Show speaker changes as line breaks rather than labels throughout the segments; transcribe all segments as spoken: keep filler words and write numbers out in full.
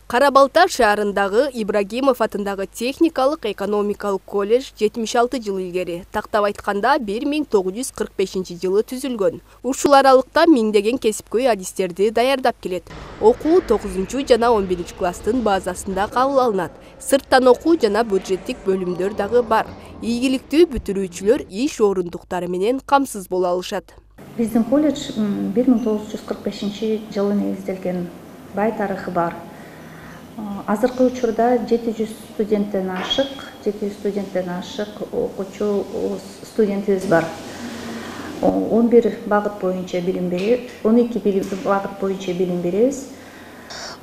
Кара Балта шаарындагы Ибрагимов атындагы техникалык экономикалык колледж жетимиш алты жыл илгери, тактап айтканда бир миң тогуз жүз кырк бешинчи жылы түзүлгөн. Ушул аралыкта миңдеген кесипкөй адистерди даярдап келет. Окуу тогузунчу жана он биринчи класстын базасында кабыл алынат. Сырттан окуу жана бюджеттик бөлүмдөр дагы бар. Ийгиликтүү бүтүрүүчүлөр иш орундуктары менен камсыз боло алышат.
Биздин колледж бир миң тогуз жүз кырк бешинчи жылы негизделген, бай тарыхы бар. Азыркы учурда жети жүз студенттен ашык, жети жүз студенттен ашык окуучу студентибиз бар. он бир багыт боюнча билим беребиз, он эки багыт боюнча билим беребиз.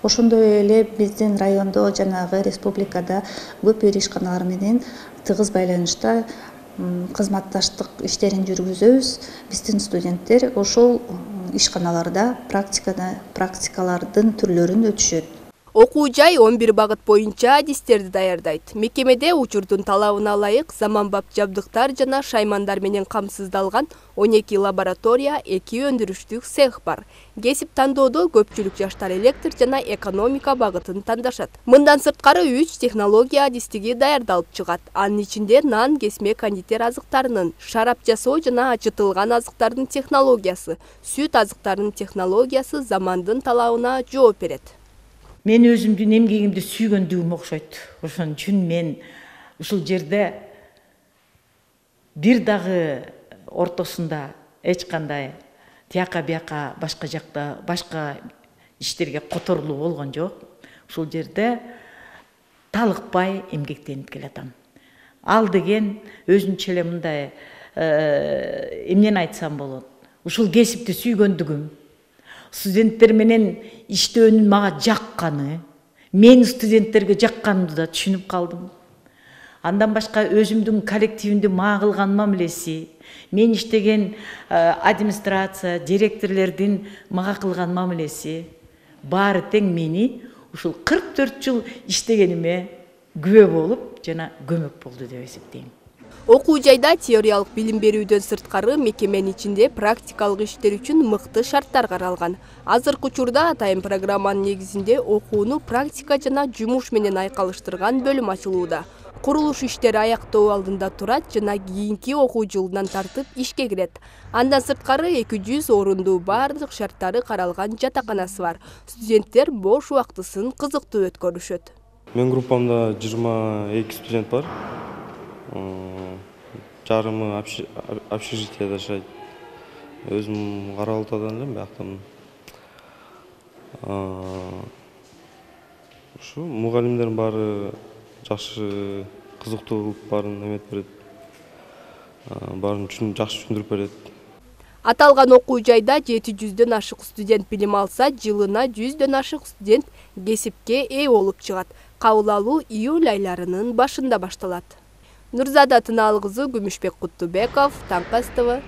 Ошондой эле биздин райондо жанагы республикада көп ишканалар менен тыгыз байланышта кызматташтык иштерин жүргүзөбүз. Биздин студенттер ошол ишканаларда практикада практикалардын түрлөрүн өтүшөт.
Окуу жай он бир багыт боюнча адистерди даярдайт. Мекемеде учурдун талабына ылайык заманбап жабдыктар жана шаймандар менен камсыздалган он эки лаборатория, эки өндүрүштүк цех бар. Кесип тандоодо көпчүлүк жаштар электр жана экономика багытын тандашат. Мындан сырткары үч технология адистиги даярдалып чыгат. Анын ичинде нан, кесме, кондитер азыктарынын, шарап жасоо жана ачытылган азыктардын технологиясы, сүт азыктарынын технологиясы замандын талабына жооп берет.
Мен өзүмдүн эмгегимди сүйгөндүгүм окшойт. Ошон үчүн мен ушул жерде бир дагы ортосунда эч кандай тияка бияка башка жакта башка иштерге которулуу болгон жок. Ушул жерде талыкпай эмгектенип келатам. Ал деген өзүнчө эле мындай эмнени айтсам болот. Ушул кесипти сүйгөндүгүм, студенттер менен иштөөнүн мага жакканы, мен студенттерге жакканымды да түшүнүп калдым. Андан башка өзүмдүн коллективимди мага кылган мамилеси, мен иштеген администрация, директорлордун мага кылган мамилеси баары тең мени ушул кырк төрт жыл иштегениме күбө болуп жана көмөк болду деп эсептейм.
Окуу жайда теориялык билим берүүдөн сырткары мекеменин ичинде практикалык иштер үчүн мыкты шарттар каралган. Азыркы учурда атайын программанын негизинде окууну практика жана жумуш менен айкалыштырган бөлүм ачылууда. Курулуш иштери аяктоо алдында турат жана кийинки окуу жылынан тартып ишке кирет. Андан сырткары эки жүз орунду бардык шарттары каралган жатаканасы бар. Студенттер бош убактысын кызыктуу өткөрүшөт.
Мен группамда жыйырма эки студент бар. Жарымы общежитияда жашайт. Өзүм Кара Балтадан элем, бияктамын. Ушу мугалимдердин баары жакшы, кызыктуу кылып баарын эметип берет. Баарын жакшы түшүндүрүп берет.
Аталган окуу жайда жети жүздөн ашык студент билим алса, жылына жүздөн ашык студент кесипке ээ болуп чыгат. Кабыл алуу июль айларынын башында башталат. Нурзада Тынаалы кызы, Күмүшбек Куттубеков, Таңкы СТВ.